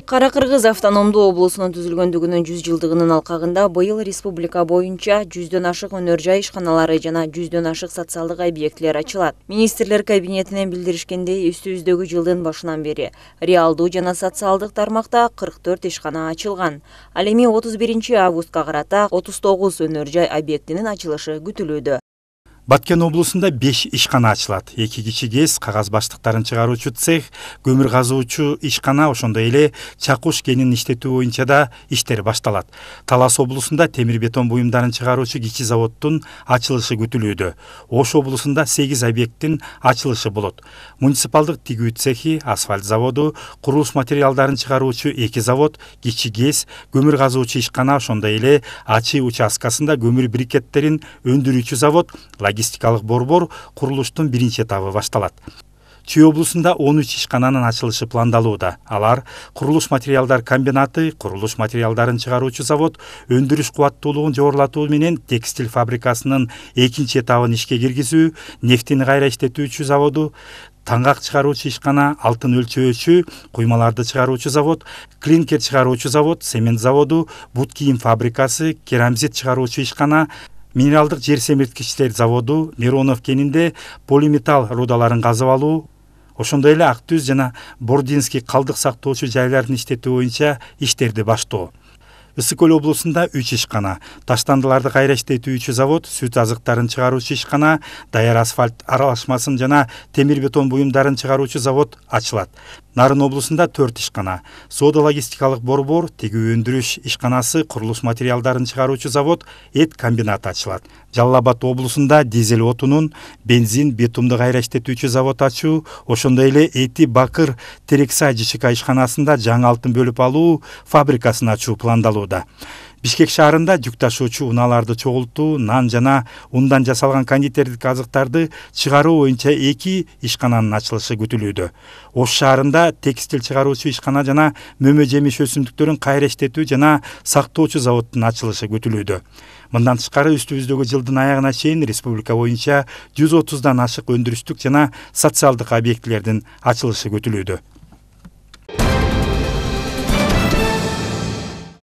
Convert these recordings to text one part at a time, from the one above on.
Кара-Кыргыз автономдуу облусунун түзүлгөндүгүнүн 100 жылдыгынын алкагында быйыл республика боюнча 100дөн ашык өнөр жай ишканалары жана 100дөн ашык социалдык объектилер ачылат. Министрлер кабинетинен билдиришкендей, үстүбүздөгү жылдын башынан бери реалдуу жана социалдык тармакта 44 ишкана ачылган. Ал эми 31 августка карата 39 өнөр жай объектинин ачылышы күтүлүүдө. Баткен облусунда 5 ишкана ачылат. 2 кичи ГЭС, кагаз баштыктарын чыгаруучу цех, көмүр казуучу ишкана, ошондой эле чакуш кенин иштетүү боюнча да иштер башталат. Талас облусунда темир бетон буюмдарын чыгаруучу кичи заводдун ачылышы күтүлүүдө. Ош облусунда 8 объекттин ачылышы болот. Муниципалдык тигүү цехи, асфальт заводу, курулуш материалдарын чыгаруучу 2 завод, кичи ГЭС, көмүр казуучу ишкана, ошондой эле Ачы участкасында көмүр брикеттерин өндүрүүчү завод, логистикалык борбор курулуштун биринчи этабы башталат. Чүй облусунда 13 ишкананын ачылышы пландалууда. Алар курулуш материалдар комбинаты, курулуш материалдарын чыгаруучу завод, өндүрүш кубаттуулугун жогорулатуу менен текстиль фабрикасынын экинчи этабын ишке киргизүү, нефтини кайра иштетүүчү заводу, таңгак чыгаруучу ишкана, алтын өлчөөчү, куймаларды чыгаруучу завод, клинкер чыгаруучу завод, цемент заводу, бут кийим фабрикасы, керамзит чыгаруучу ишкана, минералдык жер семирткичтер заводу, Миронов кенинде полиметалл рудаларын казып алуу, ошондой эле Ак Түз жана Бординский калдык сактоочу жайларын иштетүү боюнча иштерди баштоо. Ысык Көл облусунда 3 ишкана, таштандыларды кайра иштетүүчү завод, сүт азыктарын чыгаруучу ишкана, даяр асфальт аралашмасын жана темир бетон буюмдарын чыгаруучу завод ачылат. Нарын облусунда 4 ишкана, соода логистикалык борбор, тигүү өндүрүш ишканасы, курулуш материалдарын чыгаруучу завод, эт комбинаты ачылат. Жалал Абад облусунда дизель отунун, бензин, битумду кайра иштетүүчү завод ачуу, ошондой эле Эти Бакыр Терексай ЖЧК ишканасында жаңы алтын бөлүп алуу фабрикасын ачуу пландалууда. Бишкек шаарында жүк ташуучу унааларды чогултуу, нан жана ундан жасалган кондитердик азыктарды чыгаруу боюнча 2 ишкананын ачылышы күтүлүүдө. Ош шаарында текстиль чыгаруучу ишкана жана мөмө жемиш өсүмдүктөрүн кайра иштетүү жана сактоочу заводдун ачылышы күтүлүүдө. Мындан тышкары үстүбүздөгү жылдын аягына чейин республика боюнча 130дан ашык өндүрүштүк жана социалдык объектилердин ачылышы күтүлүүдө.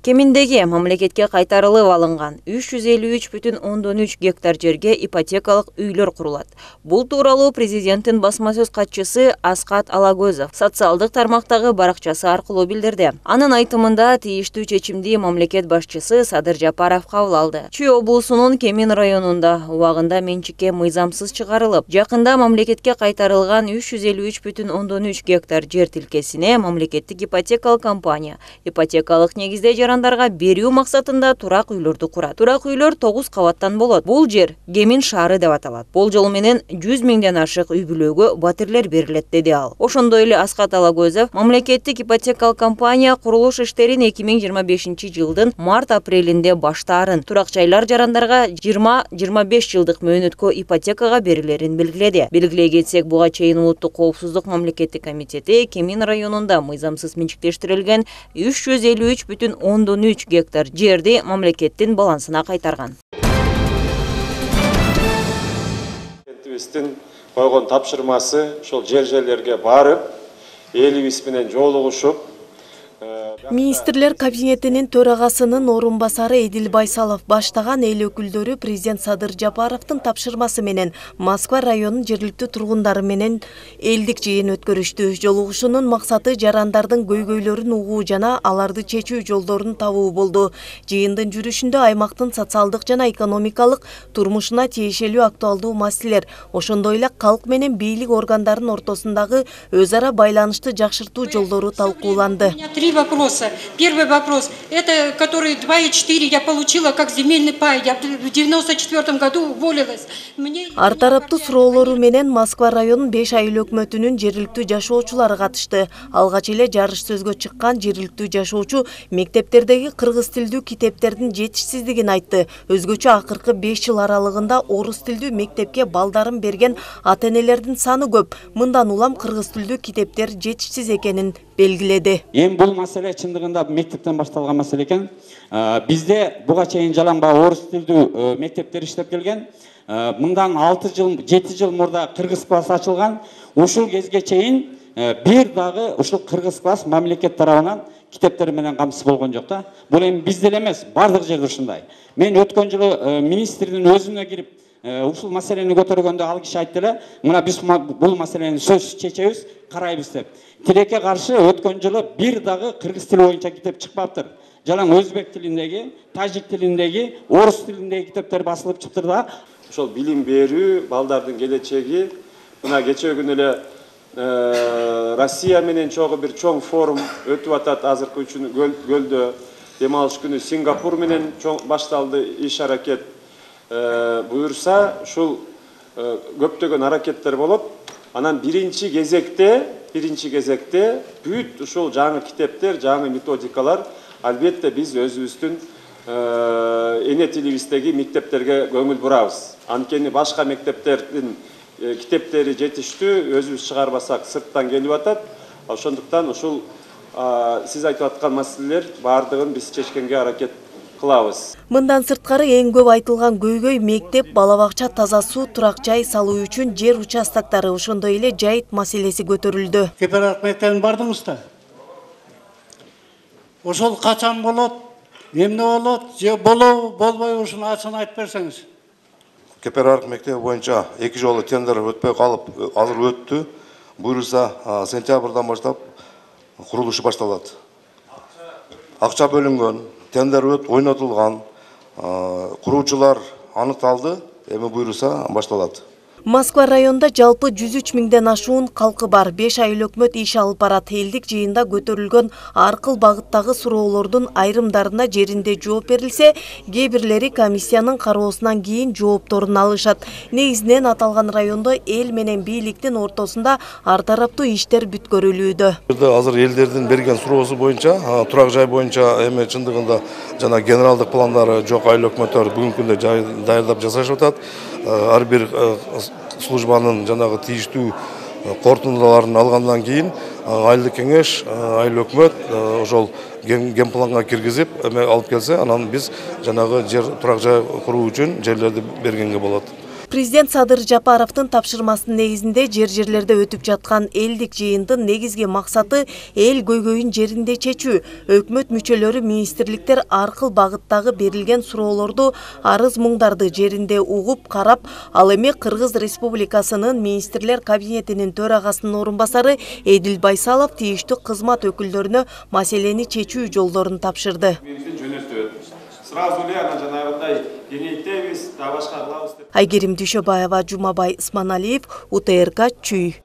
Кеминдеги мамлекетке кайтарылып алынган 353,3 гектар жерге ипотекалык үйлөр курулат. Бул тууралуу президенттин басма сөз катчысы Аскат Алагөзов социалдык тармактагы баракчасы аркылуу билдирди. Анын айтымында тийиштүү чечимди мамлекет башчысы Садыр Жапаров кабыл алды. Чүй облусунун Кемин районунда убагында менчикке мыйзамсыз чыгарылып, жакында мамлекетке кайтарылган 353,3 гектар жер тилкесине мамлекеттик ипотекалык компания ипотекалык негизде жарандарга берүү максатында турак үйлөрдү курат. Турак үйлөр 9 кабаттан болот. Бул жер Кемин шаары деп аталат. Болжол менен 100 миңден ашык үй бүлөгө батирлер берилет, деди ал. Ошондой эле Аскат Алагөзов мамлекеттик ипотекалык компания курулуш иштерин 2025 жылдын март-апрелинде баштаарын, турак жайлар жарандарга 20-25 жылдык мөөнөткө ипотекага берилерин белгиледи. Белгилей кетсек, буга чейин улуттук коопсуздук мамлекеттик комитети Кемин районунда мыйзамсыз менчиктештирилген 353,3 гектар жерди мамлекеттин балансына кайтарган. Президенттибиздин койгон тапшырмасы ошол жерлерге барып, элибиз менен жолугушуп, Министрлер кабинетинин төрагасынын орун басары Эдил Байсалов баштаган эл өкүлдөрү президент Садыр Жапаровдун тапшырмасы менен Москва районунун жергиликтүү тургундары менен элдик жыйын өткөрүштү. Жолугушуунун максаты жарандардын көйгөйлөрүн угуу жана аларды чечүү жолдорун табуу болду. Жыйындын жүрүшүндө аймактын социалдык жана экономикалык турмушуна тиешелүү актуалдуу маселелер, ошондой эле калк менен бийлик органдарынын ортосундагы өз ара байланышты жакшыртуу жолдору талкууланды. Первый вопрос, это который 2,4 я получила как земельный пай. Я в 1994 году уволилась. Ар тараптуу суроолору менен Москва районунун 5 айыл өкмөтүнүн жергиликтүү жашоочулары катышты. Алгач эле жарыш сөзгө чыккан жергиликтүү жашоочу мектептердеги кыргыз тилдүү китептердин жетишсиздигин айтты. Өзгөчө акыркы 5 жыл аралыгында орус тилдүү мектепке балдарын берген ата-энелердин саны көп. Мындан улам кыргыз тилдүү китептер жетишсиз экенин белгиледи. Эми бул маселе чындыгында мектептен башталган маселе экен. Бизде буга чейин жалаңбай орус тилдүү мектептер иштеп келген. Мындан 7 жыл мурда кыргыз класс ачылган. Ушул кезге чейин бир дагы ушул кыргыз класс мамлекет тарабынан китептер менен камсыз болгон жок да. Бул эми бизде эле эмес, бардык жерде ушундай. Мен өткөн жылы министрдин өзүнө кирип ушул маселени көтөргөндө ал киши айтты эле, мына биз бул маселени сөзсүз чечебиз, карайбыз деп. Тилекке каршы өткөн жылы бир дагы кыргыз тили боюнча китеп чыкпаптыр. Жалаң өзбек тилиндеги, тажик тилиндеги, орус тилиндеги китептер басылып чыктыр да. Ошол билим берүү, балдардын келечеги, мына кечээ күнү эле Россия менен чогуу бир чоң форум өтүп атат азыркы үчүн көлдө. Дем алыш күнү Сингапур менен башталды иш аракет. Буюрса, ушул көптөгөн аракеттер болот. Анан биринчи кезекте бүт ушул жаңы китептер, жаңы методикалар албетте биз өзүбүздүн эне тилибиздеги мектептерге көңүл бурабыз. Анткени башка мектептердин китептери жетиштүү, өзүбүз чыгарбасак сырттан келип атат. Ошондуктан ушул сиз айтып аткан маселелер бардыгын биз чечкенге аракет кылабыз. Мындан сырткары эң көп айтылган көйгөй мектеп, бала бакча, таза суу, турак жай салуу үчүн жер участоктары, ошондой эле жайыт маселеси көтөрүлдү. Кеперак мектебине бардыңыз да? Ошол качан болот, эмне болот, же болбой ушуну ачык айтып берсеңиз. Кеперак мектеби боюнча 2 жолу тендер өтпөй калып, азыр өттү. Буюрса сентябрдан баштап курулушу башталат. Акча бөлүнгөн, тендер ойнотулган, куруучулар аныкталды, эми буюрса башталат. Москва районунда жалпы 103 миңден ашуун калкы бар. 5 айыл өкмөт иш алып барат. Элдик жыйында көтөрүлгөн ар кыл багыттагы суроолордун айрымдарына жеринде жооп берилсе, кээ бирлери комиссиянын кароосунан кийин жоопторун алышат. Негизинен аталган райондо эл менен бийликтин ортосунда ар тараптуу иштер бүткөрүлүүдө. Азыр элдердин берген суроосу боюнча, турак жай боюнча эми чындыгында жана генералдык пландары жок айыл өкмөттөр бүгүнкү күндө даярдап жасашып атат. Ар бир службанын жанагы тийиштүү корутундуларын алгандан кийин айылдык кеңеш, айыл өкмөт ошол генпланга киргизип эме алып келсе, анан биз жанагы жер турак жай куруу үчүн жерлерди бергенге болот. Президент Садыр Жапаровдун тапшырмасынын негизинде жерлерде өтүп жаткан элдик жыйындын негизги максаты эл көйгөйүн жеринде чечүү. Өкмөт мүчөлөрү, министрликтер ар кыл багыттагы берилген суроолорду, арыз муңдарды жеринде угуп, карап, ал эми Кыргыз Республикасынын министрлер кабинетинин төрагасынын орун басары Эдил Байсалов тийиштүү кызмат өкүлдөрүнө маселени чечүү жолдорун тапшырды. Сразу эле ана жанагындай кеңейтебиз, да башка кылабыз деп. Айгерим Дүйшөбаева, Жумабай Исманалиев, УТРК Чүй.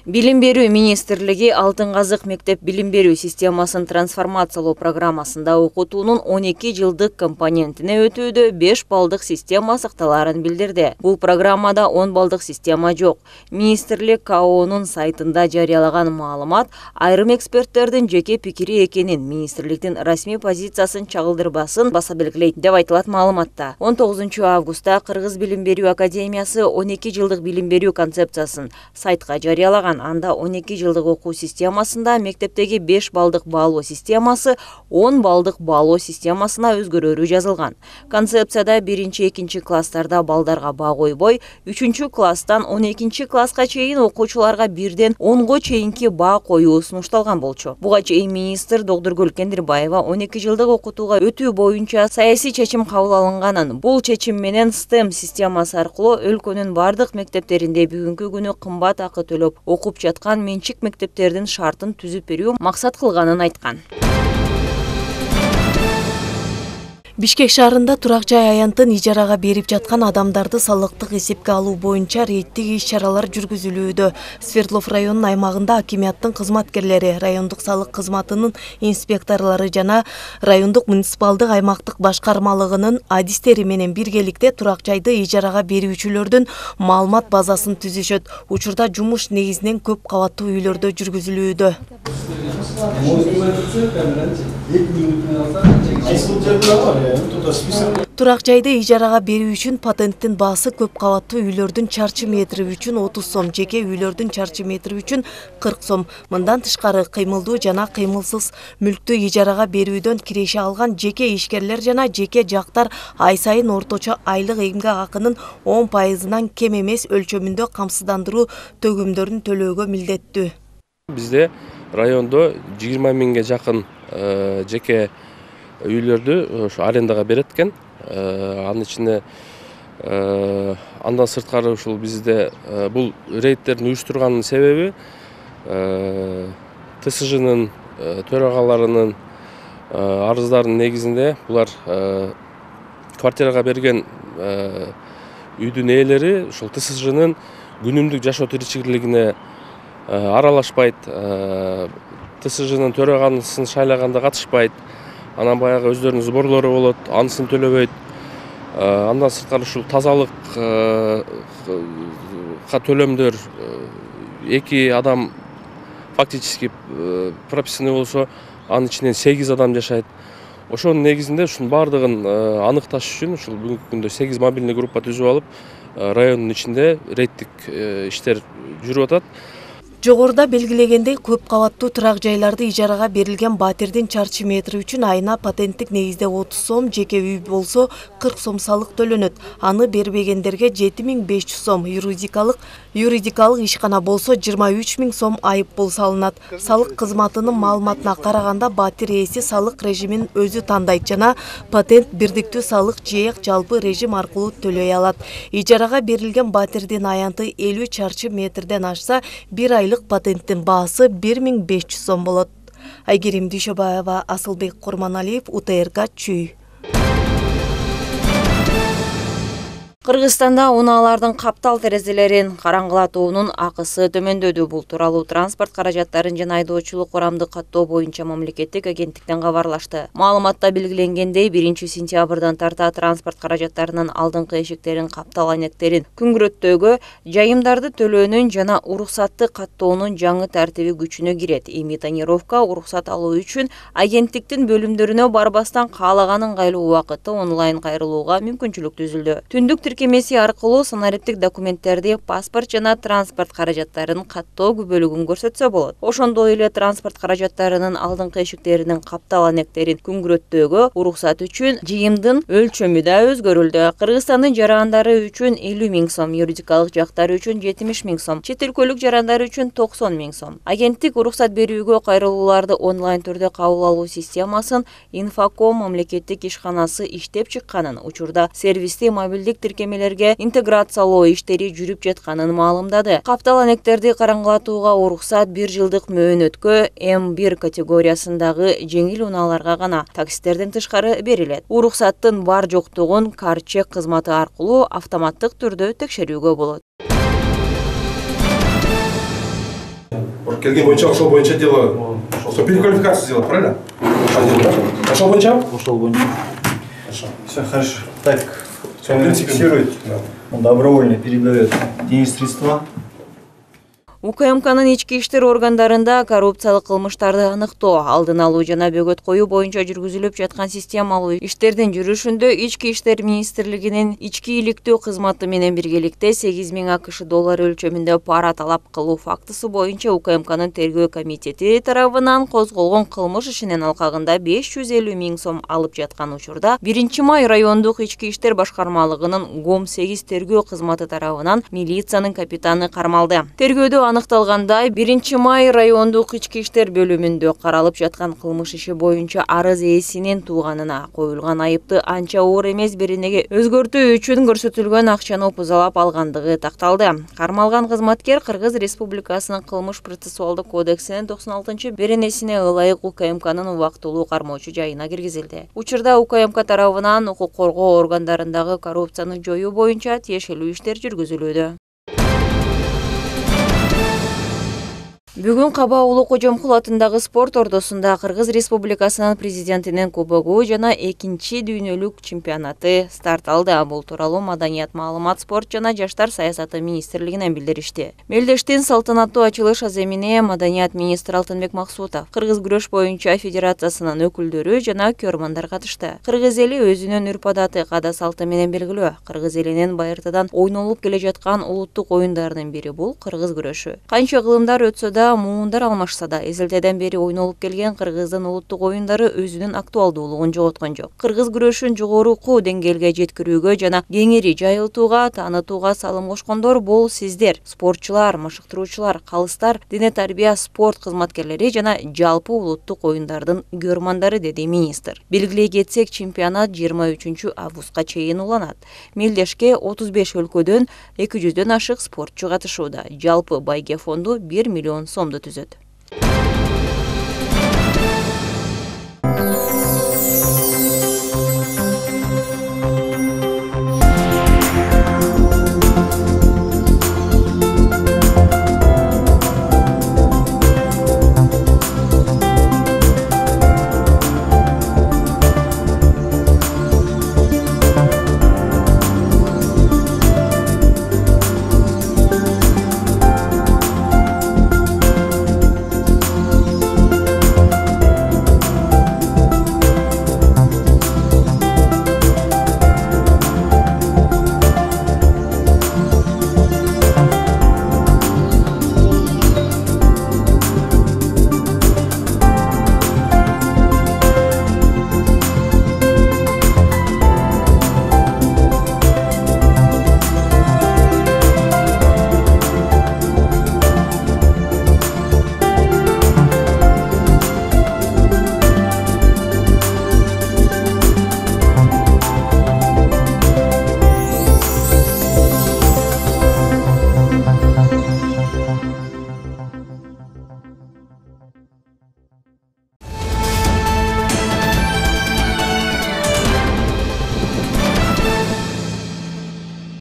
Билим берүү министрлиги Алтын казык мектеп билим берүү системасын трансформациялоо программасында окутуунун 12 жылдык компонентине өтүүдө 5 балдык система сакталарын билдирди. Бул программада 10 балдык система жок. Министрлик КАОнун сайтында жарыялаган маалымат айрым эксперттердин жеке пикири экенин, министрликтин расмий позициясын чагылдырбасын баса белгилейт деп айтылат маалыматта. 19 августта Кыргыз билим берүү академиясы 12 жылдык билим берүү концепциясын сайтка жарыялаган. Анда 12 жылдык окуу системасында мектептеги 5 балдык баалоо системасы 10 балдык баалоо системасына өзгөрүүрү жазылган. Концепцияда 1-2 класстарда балдарга баа койбой, 3-класстан 12 класска чейин окуучуларга бирден 10го чейинки баа коюу сунушталган болчу. Буга чейин министр Доктургүл Кендирбаева 12 жылдык окутууга өтүү боюнча саясий чечим кабыл алынганын, бул чечим менен STEM системасы аркылуу өлкөнүн бардык мектептеринде бүгүнкү күнү кымбат акы төлөп окуп жаткан менчик мектептердин шартын түзүп берүү максат кылганын айткан. Бишкек шаарында турак жай аянтын ижарага берип жаткан адамдарды салыктык эсепке алуу боюнча рейдтик иш-чаралар жүргүзүлүүдө. Свердлов районунун аймагында акимияттын кызматкерлери, райондук салык кызматынын инспекторлору жана райондук муниципалдык аймактык башкармалыгынын адистери менен биргеликте турак жайды ижарага берүүчүлөрдүн маалымат базасын түзүшөт. Учурда жумуш негизинен көп кабаттуу үйлөрдө жүргүзүлүүдө. Турак жайды ижарага берүү үчүн патенттин баасы көп кабаттуу үйлөрдүн чарчы метри үчүн 30 сом, жеке үйлөрдүн чарчы метри үчүн 40 сом. Мындан тышкары кыймылдуу жана кыймылсыз мүлктү ижарага берүүдөн киреше алган жеке ишкерлер жана жеке жактар ай сайын орточо айлык эмгек акынын 10%-нан кем эмес өлчөмүндө камсыздандыруу төгүмдөрүн төлөөгө милдеттүү. Бизде райондо 20 миңге жакын жеке үйлөрдү ошо арендага берет экен. Анын ичинде андан сырткары ушул бизде бул рейдтердин уюштурганын себеби ТСЖнын төрагаларынын арыздарынын негизинде булар квартирага берген үйдүн ээлери ушул ТСЖнын күнүмдүк жашоо тиричилигине аралашпайт, ТСЖнын төрагасын шайлаганда катышпайт, анан баягы өздөрүнүн сборлору болот, анысын төлөбөйт. Андан сырткары ушул тазалыкка төлөмдөр 2 адам фактически прописаны болсо, анын ичинен 8 адам жашайт. Ошонун негизинде ушунун баардыгын аныкташ үчүн ушул бүгүнкү күндө 8 мобильный группа түзүп алып, райондун ичинде рейдтик иштер жүрүп атат. Жогоруда белгилегендей, көп кабаттуу турак жайларды ижарага берилген батирдин чарчы метри үчүн айына патенттик негизде 30 сом, жеке үй болсо 40 сом салык төлөнөт. Аны бербегендерге 7500 сом, юридикалык ишкана болсо 23000 сом айыппул салынат. Салык кызматынын маалыматына караганда батир ээси салык режимин өзү тандайт жана патент бирдиктүү салык жээк жалпы режим аркылуу төлөй алат. Ижарага берилген батирдин аянты 50 чарчы метрден ашса, 1 айлык патенттин баасы 1500 сом болот. Айгерим Дүйшөбаева, Асылбек Курманалиев, УТРК Чүй. Кыргызстанда унаалардын каптал терезелерин караңгылатуунун акысы төмөндөдү. Бул тууралуу транспорт каражаттарын жана айдоочулук курамды каттоо боюнча мамлекеттик агенттиктен кабарлашты. Маалыматта белгиленгендей, 1-сентябрдан тарта транспорт каражаттарынын алдыңкы эшиктерин, каптал айнектерин күнгүрөттөөгө, жайымдарды төлөөнүн жана уруксатты каттоонун жаңы тартиби күчүнө кирет. Эми тонировка уруксат алуу үчүн агенттиктин бөлүмдөрүнө барбастан каалаган ыңгайлуу убакытта онлайн кайрылууга мүмкүнчүлүк түзүлдү. Түндүк тиркемеси аркылуу санариптик документтерди, паспорт жана транспорт каражаттарын каттоо күбөлүгүн көрсөтсө болот. Ошондой эле транспорт каражаттарынын алдыңкы эшиктеринин каптал анектерин күнгүрөттөөгө уруксат үчүн жыйымдын өлчөмү да өзгөрүлдү. Кыргызстандын жарандары үчүн 50 000 сом, юридикалык жактар үчүн 70 000 сом, чет өлкөлүк жарандар үчүн 90 000 сом. Агенттик уруксат берүүгө кайрылууларды онлайн түрдө кабыл алуу системасын Infocom мамлекеттик ишканасы иштеп чыкканын, учурда сервисти мобилдик тиркемелерге интеграциялоо иштери жүрүп жатканын маалымдады. Каптал анектерди караңгылатууга уруксат 1 жылдык мөөнөткө М1 категориясындагы жеңил унааларга гана, таксистерден тышкары берилет. Уруксаттын бар жоктугун кар-чек кызматы аркылуу автоматтык түрдө текшерүүгө болот. Келген боюнча, ошол боюнча дело, переквалификацию сделать, правильно? Ошол боюнча? Ошол боюнча. Все хорошо. Так, он фиксирует, он добровольно передает деньги средства. УКМКнын ички иштер органдарында коррупциялык кылмыштарды аныктоо, алдын алуу жана бөгөт коюу боюнча жүргүзүлүп жаткан системалуу иштердин жүрүшүндө Ички иштер министрлигинин ички иликтөө кызматы менен биргеликте 8 000 АКШ доллары өлчөмүндө пара талап кылуу фактысы боюнча УКМКнын тергөө комитети тарабынан козголгон кылмыш ишинин алкагында 550 000 сом алып жаткан учурда 1-май райондук ички иштер башкармалыгынын ГОМ-8 тергөө кызматы тарабынан милициянын капитаны кармалды. Тергөөдө аныкталгандай, 1-май райондук ички иштер бөлүмүндө каралып жаткан кылмыш иши боюнча арыз ээсинин тууганына коюлган айыпты анча оор эмес беренеге өзгөртүү үчүн көрсөтүлгөн акчаны опузалап алгандыгы такталды. Кармалган кызматкер Кыргыз Республикасынын кылмыш процессуалдык кодексинин 96 беренесине ылайык УКМКнын убактылуу кармоочу жайына киргизилди. Учурда УКМК тарабынан укук коргоо органдарындагы коррупцияны жоюу боюнча тиешелүү иштер жүргүзүлүүдө. Бүгүн Каба Улуу Кожомкул атындагы спорт ордосунда Кыргыз Республикасынын президентинин кубогу жана 2-чи дүйнөлүк чемпионаты старт алды. Бул тууралуу Маданият, маалымат, спорт жана жаштар саясаты министрлигинен билдиришти. Мелдештин салтанаттуу ачылыш аземине Маданият министри Алтынбек Максутов, Кыргыз күрөш боюнча федерациясынын өкүлдөрү жана көрмандар катышты. Кыргыз эли өзүнүн үрп-адаты, каада салты менен белгилүү. Кыргыз элинин байыртадан ойнолуп келе жаткан улуттук оюндарынын бири бул кыргыз күрөшү. Канча кылымдар өтсө да да муундар алмашса да, эзелтеден бери ойнолуп келген Кыргыздын улуттук оюндары өзүнүн актуалдуулугун жоготкон жок. Кыргыз күрөшүн жогорку деңгээлге жеткирүүгө жана кеңири жайылтууга, таанытууга салым кошкондор бул сиздер, спортчулар, машыктыруучулар, калыстар, дене тарбия спорт кызматкерлери жана жалпы улуттук оюндардын көрмандары, деди министр. Белгилей кетсек, чемпионат 23 августка чейин уланат. Мелдешке 35 өлкөдөн 200дөн ашык спортчу катышууда. Жалпы байге фонду 1 миллион сомду түзөт.